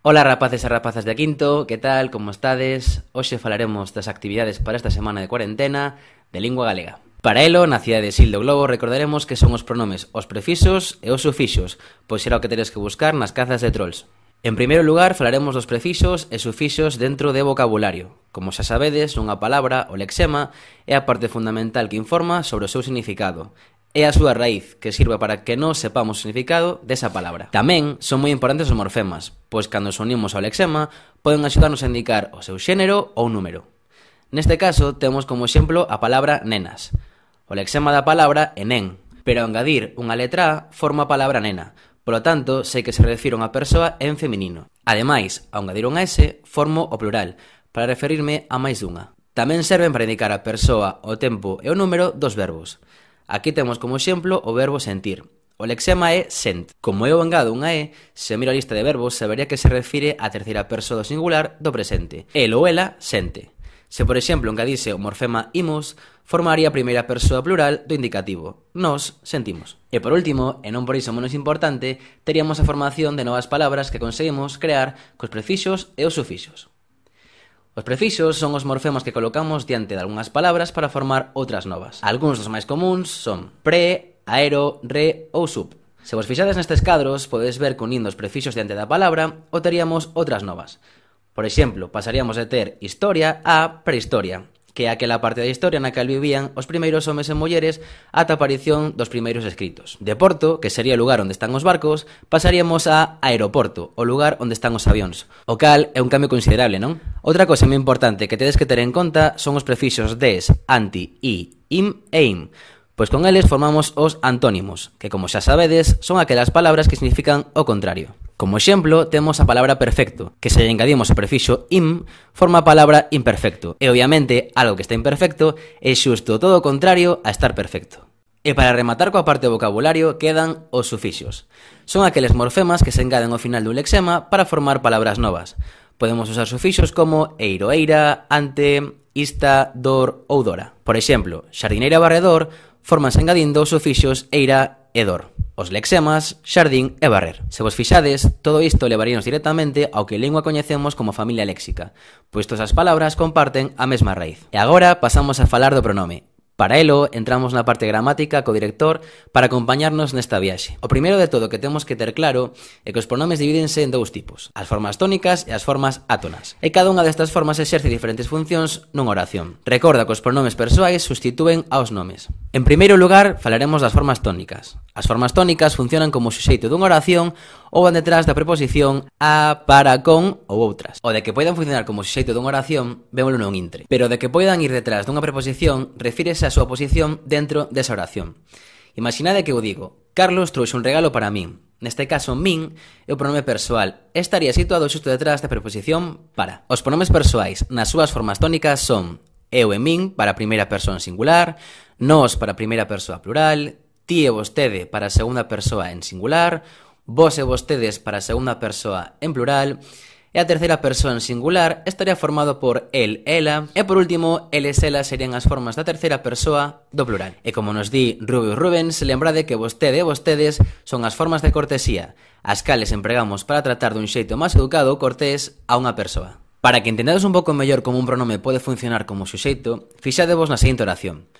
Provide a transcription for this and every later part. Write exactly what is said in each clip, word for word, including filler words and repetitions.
Ola rapaces e rapazas de quinto, que tal, como estades? Hoxe falaremos das actividades para esta semana de cuarentena de lingua galega. Para elo, na cidade de Sil do Globo, recordaremos que son os pronomes os prefixos e os sufixos, pois será o que teres que buscar nas cazas de trolls. En primeiro lugar, falaremos dos prefixos e sufixos dentro de vocabulario. Como xa sabedes, unha palabra, o lexema, é a parte fundamental que informa sobre o seu significado. É a súa raíz, que sirve para que nós sepamos o significado desa palabra. Tamén son moi importantes os morfemas, pois cando os unimos ao lexema, poden axudarnos a indicar o seu xénero ou número. Neste caso, temos como exemplo a palabra nenas. O lexema da palabra é nen, pero ao engadir unha letra A, forma a palabra nena. Polo tanto, sei que se refire a unha persoa en feminino. Ademais, ao engadir unha S, formo o plural, para referirme a máis dunha. Tamén serven para indicar a persoa, o tempo e o número dos verbos. Aquí temos como exemplo o verbo sentir. O lexema é sent. Como eu engado unha E, se miro a lista de verbos, sabería que se refire á terceira persoa do singular do presente. El ou ela sente. Se, por exemplo, engadise o morfema imos, formaría a primeira persoa plural do indicativo. Nos sentimos. E por último, e non por iso menos importante, teríamos a formación de novas palabras que conseguimos crear cos prefixos e os sufixos. Os prefixos son os morfemas que colocamos diante de algunhas palabras para formar outras novas. Algúns dos máis comuns son pre, aero, re ou sub. Se vos fixades nestes cadros, podedes ver que unindo os prefixos diante da palabra, obteríamos outras novas. Por exemplo, pasaríamos de ter historia a prehistoria, que é aquela parte da historia na que vivían os primeiros homes e mulleres ata a aparición dos primeiros escritos. De porto, que sería o lugar onde están os barcos, pasaríamos a aeroporto, o lugar onde están os avións. O cal é un cambio considerable, non? Outra cosa moi importante que tedes que ter en conta son os prefixos des, anti, i, im e im, pois con eles formamos os antónimos, que como xa sabedes, son aquelas palabras que significan o contrario. Como exemplo, temos a palabra perfecto, que se lle engadimos o prefixo im, forma a palabra imperfecto. E obviamente, algo que está imperfecto é xusto todo o contrario a estar perfecto. E para rematar coa parte do vocabulario, quedan os sufixos. Son aqueles morfemas que se engaden ao final dun lexema para formar palabras novas. Podemos usar sufixos como eiro, eira, ante, ista, dor ou dora. Por exemplo, xardineira e barredor formanse engadindo os sufixos eira e dor. Os lexemas, xardín e barrer. Se vos fixades, todo isto levaríanos directamente ao que en lingua coñecemos como familia léxica, pois todas as palabras comparten a mesma raíz. E agora pasamos a falar do pronome. Para elo, entramos na parte gramática co director para acompañarnos nesta viaxe. O primeiro de todo que temos que ter claro é que os pronomes divídense en dous tipos, as formas tónicas e as formas átonas. E cada unha destas formas exerce diferentes funcións nunha oración. Recorda que os pronomes persoais sustitúen aos nomes. En primeiro lugar, falaremos das formas tónicas. As formas tónicas funcionan como suxeito dunha oración ou van detrás da preposición a, para, con ou outras. O de que poidan funcionar como suxeito dunha oración, vémolo non intre. Pero de que poidan ir detrás dunha preposición, refírese a súa posición dentro desa oración. Imaginade que eu digo, Carlos trouxe un regalo para min. Neste caso, min é o pronome persoal e estaría situado xusto detrás da preposición para. Os pronomes persoais nas súas formas tónicas son eu e min para a primeira persoa en singular, nós para a primeira persoa plural, ti e vostede para a segunda persoa en singular, vos e vostedes para a segunda persoa en plural, e a terceira persoa en singular estaría formado por el, ela, e por último, eles, elas serían as formas da terceira persoa do plural. E como nos di Rubius Rubens, lembrade que vostede e vostedes son as formas de cortesía, as cales empregamos para tratar dun xeito máis educado ou cortés a unha persoa. Para que entendades un pouco mellor como un pronome pode funcionar como suxeito, fixadevos na seguinte oración.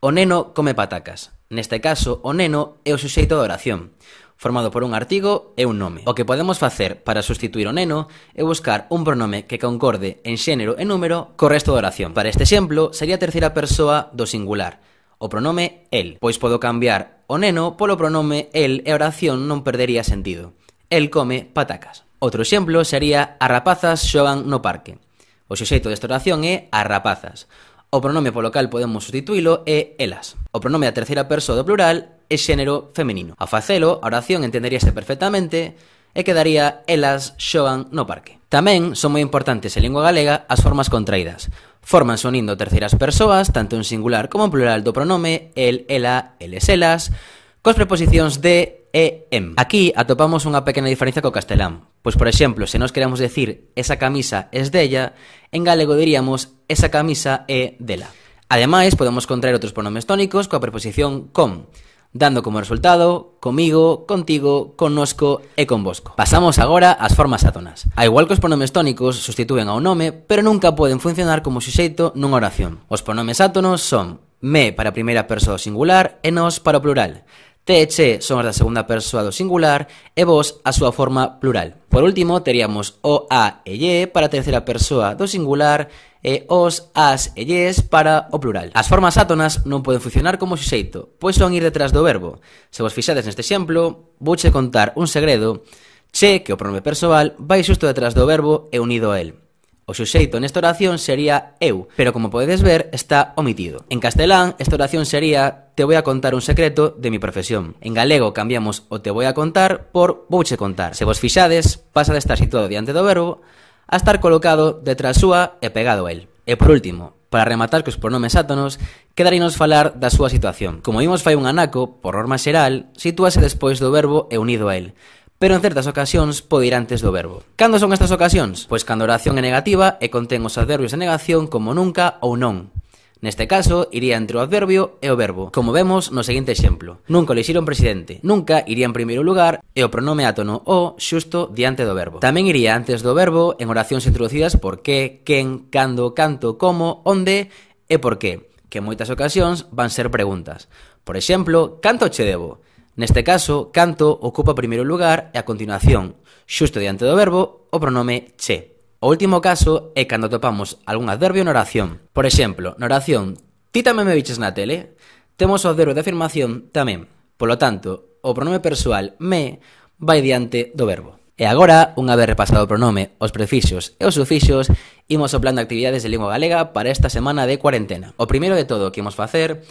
O neno come patacas. Neste caso, o neno é o suxeito da oración, formado por un artigo e un nome. O que podemos facer para sustituir o neno é buscar un pronome que concorde en xénero e número co resto da oración. Para este exemplo, sería a terceira persoa do singular, o pronome el, pois podo cambiar o neno polo pronome el e a oración non perdería sentido. El come patacas. Outro exemplo sería as rapazas xogan no parque. O suxeito desta oración é as rapazas. O pronome polo cal podemos sustituílo é elas. O pronome da terceira persoa do plural é xénero femenino. Ao facelo, a oración entenderíase perfectamente e quedaría elas xogan no parque. Tamén son moi importantes en lingua galega as formas contraídas. Forman unindo terceiras persoas, tanto en singular como en plural do pronome el, ela, eles, elas, cos preposicións de e em. Aquí atopamos unha pequena diferencia co castelán. Pois, por exemplo, se nos queremos decir esa camisa es della, en galego diríamos esa camisa é dela. Ademais, podemos contraer outros pronomes tónicos coa preposición con. dando como resultado comigo, contigo, connosco e convosco. Pasamos agora ás formas átonas. A igual que os pronomes tónicos sustitúen a un nome, pero nunca poden funcionar como suxeito nunha oración. Os pronomes átonos son me para a primeira persoa do singular e nos para o plural. Te e che son as da segunda persoa do singular e vos a súa forma plural. Por último, teríamos o, a e lle para a terceira persoa do singular e os, as e lles para o plural. As formas átonas non poden funcionar como suxeito, pois son ir detrás do verbo. Se vos fixades neste exemplo, vouche contar un segredo. Che, que o pronome persoal, vai xusto detrás do verbo e unido a el. O suxeito nesta oración sería eu, pero como podedes ver, está omitido. En castelán, esta oración sería te voy a contar un secreto de mi profesión. En galego cambiamos o te voy a contar por vouche contar. Se vos fixades, pasa de estar situado diante do verbo a estar colocado detrás súa e pegado a el. E por último, para rematar cos pronomes átonos, quedarínos falar da súa situación. Como vimos fai un anaco, por norma xeral, sitúase despois do verbo e unido a el. Pero en certas ocasións pode ir antes do verbo. Cando son estas ocasións? Pois cando a oración é negativa e contén os adverbios de negación como nunca ou non. Neste caso, iría entre o adverbio e o verbo, como vemos no seguinte exemplo. Nunca elixiron presidente. Nunca iría en primeiro lugar e o pronome átono o xusto diante do verbo. Tamén iría antes do verbo en oracións introducidas por que, quen, cando, canto, como, onde e por qué, que en moitas ocasións van ser preguntas. Por exemplo, canto che debo? Neste caso, canto ocupa o primeiro lugar e a continuación, xusto diante do verbo, o pronome che. O último caso é cando topamos algún adverbio na oración. Por exemplo, na oración, ti tamén me viches na tele? Temos o adverbio de afirmación tamén. Polo tanto, o pronome persoal me vai diante do verbo. E agora, unha vez repasado o pronome, os prefixos e os sufixos, imos ao plan de actividades de lingua galega para esta semana de cuarentena. O primeiro de todo que imos facer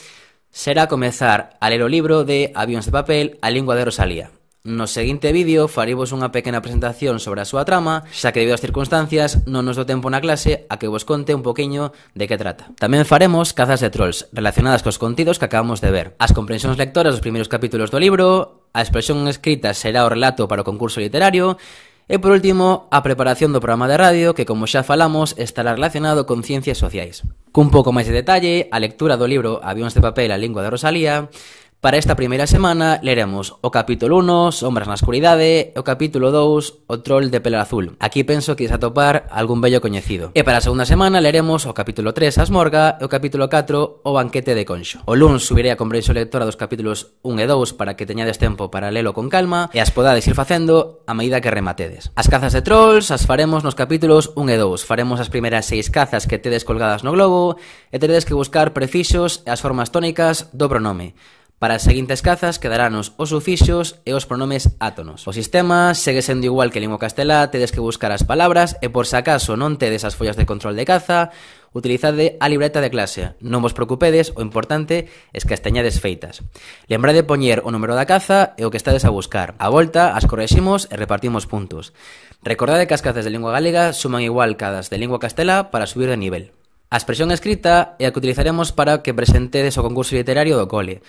será comezar a ler o libro de Avións de papel, a lingua de Rosalía. No seguinte vídeo faremos unha pequena presentación sobre a súa trama, xa que debido ás circunstancias non nos do tempo na clase a que vos conte un poquinho de que trata. Tamén faremos cazas de trolls relacionadas cos contidos que acabamos de ver, as comprensións lectoras dos primeiros capítulos do libro, a expresión escrita será o relato para o concurso literario e, por último, a preparación do programa de radio que, como xa falamos, estará relacionado con ciencias sociais. Cun pouco máis de detalle, a lectura do libro Avións de papel, a lingua de Rosalía. Para esta primeira semana leremos o capítulo uno, Sombras na escuridade, e o capítulo dous, O troll de pelo azul. Aquí penso que is atopar algún vello coñecido. E para a segunda semana leremos o capítulo tres, A esmorga, e o capítulo catro, O banquete de Conxo. O luns subirei a comprensión lectora dos capítulos un e dous para que teñades tempo para lelo con calma e as podades ir facendo a medida que rematedes. As cazas de trolls as faremos nos capítulos un e dous. Faremos as primeiras seis cazas que tedes colgadas no globo e teredes que buscar prefixos e as formas tónicas do pronome. Para as seguintes cazas quedarános os sufixos e os pronomes átonos. O sistema segue sendo igual que en lingua castelá, tedes que buscar as palabras e por se acaso non tedes as follas de control de caza, utilizade a libreta de clase. Non vos preocupedes, o importante é que as teñades feitas. Lembrade poñer o número da caza e o que estades a buscar. A volta as correximos e repartimos puntos. Recordade que as cazas de lingua galega suman igual que as de lingua castelá para subir de nivel. A expresión escrita é a que utilizaremos para que presentedes o concurso literario do cole.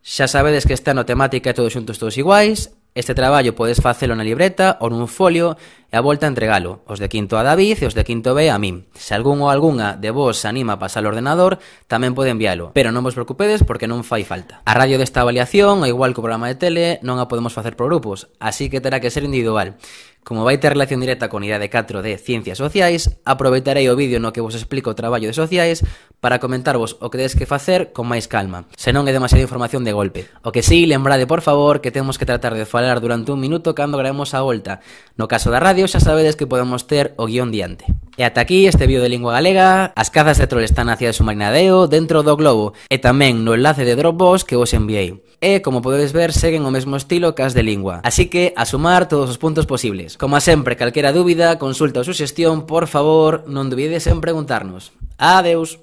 Xa sabedes que está no temática e todos xuntos todos iguais. Este traballo podes facelo na libreta ou nun folio e a volta entregalo. Os de quinto a David e os de quinto B a min. Se algún ou algunha de vos se anima a pasar ao ordenador, tamén pode envialo. Pero non vos preocupedes porque non fai falta. A radio desta avaliación, ao igual que o programa de tele, non a podemos facer por grupos, así que terá que ser individual. Como vai ter relación directa con unidade catro de Ciencias Sociais, aproveitarei o vídeo no que vos explico o traballo de sociais para comentarvos o que tedes que facer con máis calma, se non é demasiada información de golpe. O que sí, lembrade por favor que temos que tratar de falar durante un minuto cando gravemos a volta. No caso da radio xa sabedes que podemos ter o guión diante. E ata aquí este vídeo de lingua galega. As cazas de troll están na cidade de Submarinadeo dentro do globo e tamén no enlace de Dropbox que vos enviei. E, como podedes ver, seguen o mesmo estilo que as de lingua. Así que, a sumar todos os puntos posibles. Como sempre, calquera dúbida, consulta ou suxestión, por favor, non dubides en preguntarnos. Adeus!